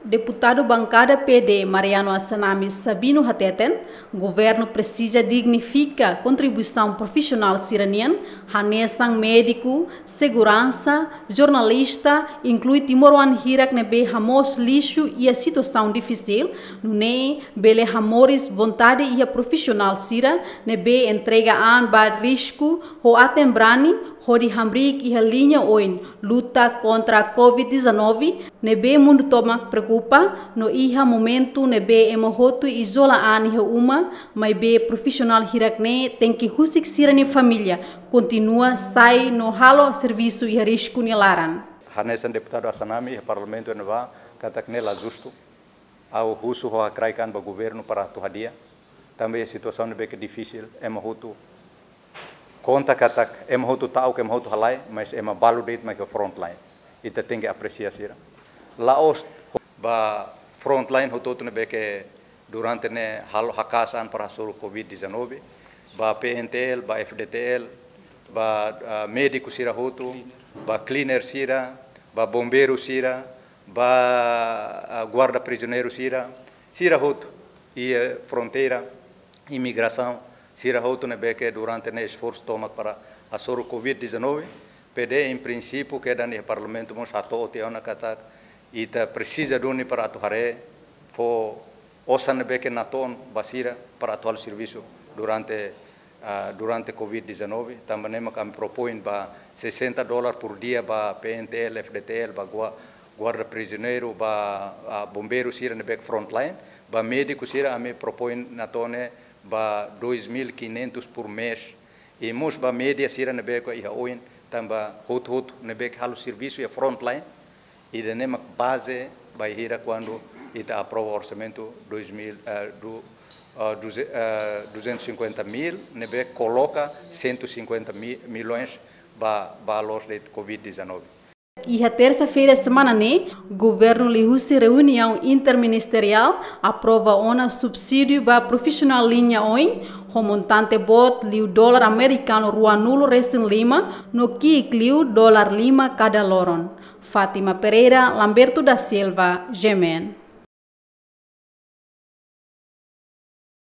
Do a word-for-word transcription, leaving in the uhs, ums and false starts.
Deputadu bankada P D Mariano Assanami Sabino hateten, governu presiza dignifika kontribuisaun profisionál sira-nian, hanesan médiku, seguransa, jornalista, inklui timoroan hirak ne'ebé hamoos lixu iha situasaun difisil, nune'e bele hamoris vontade iha profisionál sira ne'ebé entrega an ba risku ho aten-brani hodi hamriik iha liña oin luta kontra covid dezanove, ne'ebé mundu tomak preokupa, no iha momentu ne'ebé ema hotu izola an iha uma, maibé profisionál hirak-ne'e tenke husik sira-nia família kontinua sai no halo servisu iha risku nia laran. Hanesan deputadu Assanami iha Parlamentu iha ne'ebá, katak ne'e la justu. Ha'u husu ho hakraik an ba governu para atu hadi'a. Tanba iha situasaun ne'ebé ke difisil, ema hotu konta katak ema hotu ta'uk, ema hotu halai, mas ema balu de'it mak iha frontline. Ita tenke apresia sira. La'ós ba frontline hotu-hotu ne'ebé ke durante ne'e halo haka'as an para hasoru covid dezanove, ba P N T L, ba F D T L, ba, ah, médiku sira hotu, ba cleaner sira, ba bombeiru sira, ba, ah, guarda prizioneiru sira, sira hotu, iha fronteira, imigrasaun, sira hotu ne'ebé ke durante ne'e esforsu tomak para hasoru covid dezanove, P D em princípio kedan iha Parlamentu mós hato'o tiha ona katak ita presiza duni para atu haree fó osan ne'ebé ke natoon ba sira para atu halo servisu durante, ah, durante covid dezanove. Tanba ne'e mak ami propoin ba sessenta dólar por dia ba P N T L, F D T L, ba gua-, guarda prizioneiru, ba, ah, bombeiru sira ne'ebé ke frontline, ba médiku sira ami propoin natoon ne'e ba dois mil e quinhentos por mês. I mós ba média sira ne'ebé ke iha oin, tanba hotu-hotu ne'ebé ke halo servisu iha frontline, ida-ne'e mak baze bainhira kuandu ita aprova orsamentu dois mil, eh, du-, eh, duze-, eh, duzentos e cinquenta mil, ne'ebé koloka cento e cinquenta mi-, milhões ba, ba la'ós de'it covid dezanove. Iha tersa-feira semana ne'e, governu liuhusi reuniaun interministeriál aprova ona subsídiu ba profisionál liña oin, ho montante boot liu dólar amerikanu ruanulu resin lima, no ki'ik liu dólar lima kada loron. Fátima Pereira, Lamberto da Silva, G M N.